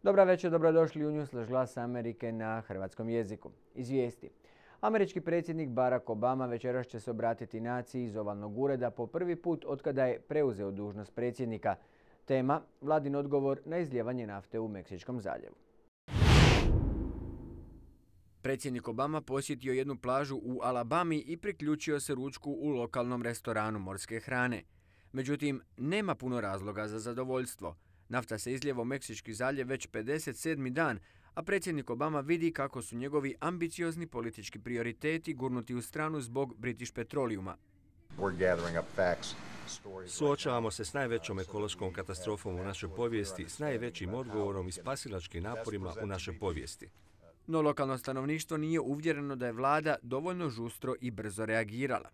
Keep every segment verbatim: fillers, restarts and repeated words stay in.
Dobra večer, dobrodošli u Newsflash Glasa Amerike na hrvatskom jeziku. Izvijesti. Američki predsjednik Barack Obama večeras će se obratiti naciji iz ovalnog ureda po prvi put otkada je preuzeo dužnost predsjednika. Tema – vladin odgovor na izlijevanje nafte u Meksičkom zaljevu. Predsjednik Obama posjetio jednu plažu u Alabami i priključio se ručku u lokalnom restoranu morske hrane. Međutim, nema puno razloga za zadovoljstvo. Nafta se izlijeva u Meksički zaljev već pedeset sedmi dan, a predsjednik Obama vidi kako su njegovi ambiciozni politički prioriteti gurnuti u stranu zbog British Petroleuma. Suočavamo se s najvećom ekološkom katastrofom u našoj povijesti, s najvećim odgovorom i spasilačkim naporima u našoj povijesti. No lokalno stanovništvo nije uvjereno da je vlada dovoljno žustro i brzo reagirala.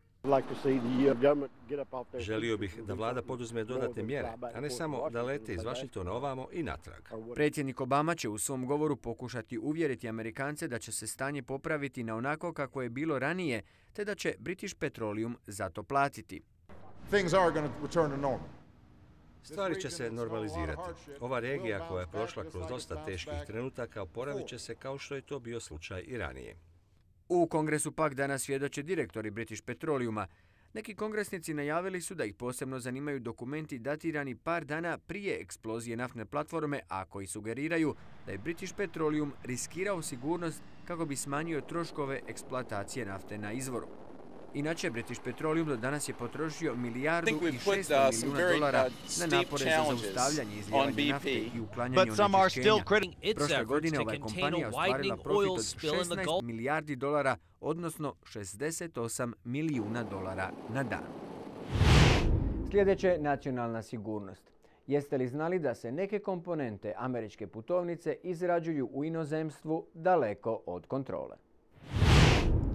Želio bih da vlada poduzme dodatne mjere, a ne samo da lete iz Washingtona ovamo i natrag. Predsjednik Obama će u svom govoru pokušati uvjeriti Amerikance da će se stanje popraviti na onako kako je bilo ranije, te da će British Petroleum za to platiti. Stvari će se normalizirati. Ova regija koja je prošla kroz dosta teških trenutaka oporavit će se kao što je to bio slučaj i ranije. U Kongresu pak danas svjedoče direktori British Petroleuma. Neki kongresnici najavili su da ih posebno zanimaju dokumenti datirani par dana prije eksplozije naftne platforme, a koji sugeriraju da je British Petroleum riskirao sigurnost kako bi smanjio troškove eksploatacije nafte na izvoru. Inače, British Petroleum do danas je potrošio milijardu i šesto milijuna dolara na napore za zaustavljanje izlijevanja nafte i uklanjanje onečišćenja. Prošle godine ova je kompanija ostvarila profit od šesnaest milijardi dolara, odnosno šezdeset osam milijuna dolara na dan. Sljedeće, nacionalna sigurnost. Jeste li znali da se neke komponente američke putovnice izrađuju u inozemstvu daleko od kontrole?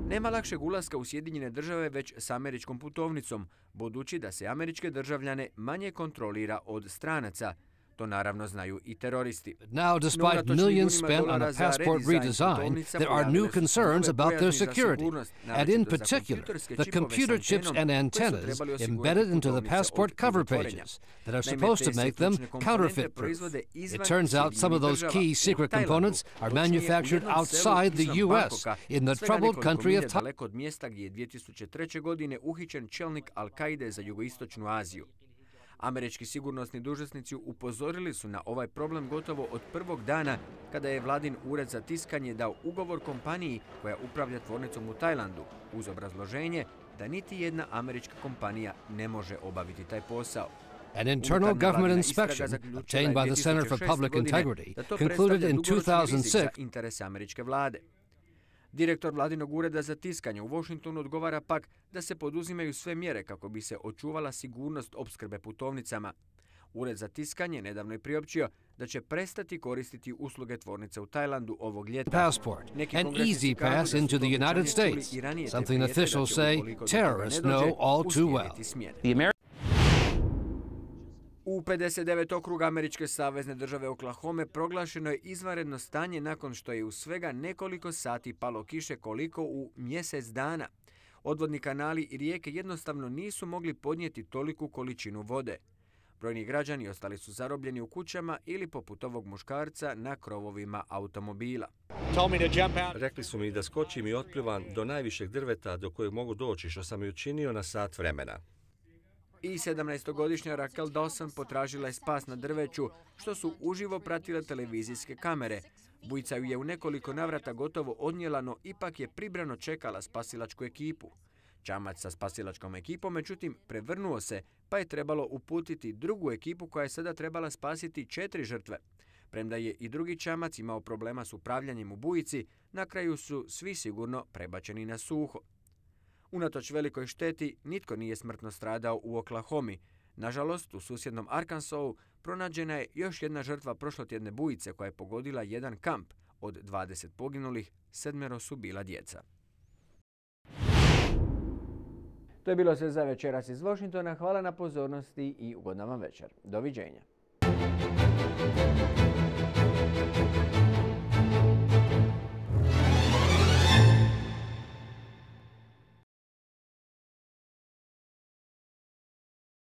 Nema lakšeg ulaska u Sjedinjene države već s američkom putovnicom, budući da se američke državljane manje kontrolira od stranaca. To naravno znaju i teroristi. Now, despite millions spent on a passport redesign, there are new concerns about their security, and in particular, the computer chips and antennas embedded into the passport cover pages that are supposed to make them counterfeit-proof. It turns out some of those key secret components are manufactured outside the U S, in the troubled country of Thailand. Od mjesta gdje je dvije tisuće treće. godine uhićen čelnik Al-Kaide za jugoistočnu Aziju. Američki sigurnosni dužnosnici upozorili su na ovaj problem gotovo od prvog dana kada je vladin ured za tiskanje dao ugovor kompaniji koja upravlja tvornicom u Tajlandu uz obrazloženje da niti jedna američka kompanija ne može obaviti taj posao. An internal government inspection obtained by the Center for Public Integrity concluded in two thousand six interese američke vlade. Direktor vladinog ureda za tiskanje u Washingtonu odgovara pak da se poduzimaju sve mjere kako bi se očuvala sigurnost opskrbe putovnicama. Ured za tiskanje nedavno je priopćio da će prestati koristiti usluge tvornice u Tajlandu ovog ljeta. Passport, an easy pass into the United States, something officials say terrorists know all too well. U pedeset devet okruga američke savezne države Oklahome proglašeno je izvanredno stanje nakon što je u svega nekoliko sati palo kiše koliko u mjesec dana. Odvodni kanali i rijeke jednostavno nisu mogli podnijeti toliku količinu vode. Brojni građani ostali su zarobljeni u kućama ili poput ovog muškarca na krovovima automobila. Rekli su mi da skočim i otplivam do najvišeg drveta do kojeg mogu doći, što sam i učinio na sat vremena. I sedamnaestogodišnja Raquel Dawson potražila je spas na drveću, što su uživo pratile televizijske kamere. Bujica ju je u nekoliko navrata gotovo odnijela, no ipak je pribrano čekala spasilačku ekipu. Čamac sa spasilačkom ekipom, međutim, prevrnuo se, pa je trebalo uputiti drugu ekipu koja je sada trebala spasiti četiri žrtve. Premda je i drugi čamac imao problema s upravljanjem u bujici, na kraju su svi sigurno prebačeni na suho. Unatoč velikoj šteti, nitko nije smrtno stradao u Oklahomi. Nažalost, u susjednom Arkansasu pronađena je još jedna žrtva prošlotjedne bujice koja je pogodila jedan kamp. Od dvadeset poginulih, sedmero su bila djeca. To je bilo sve za večeras iz Washingtona. Hvala na pozornosti i ugodna vam večer. Doviđenja.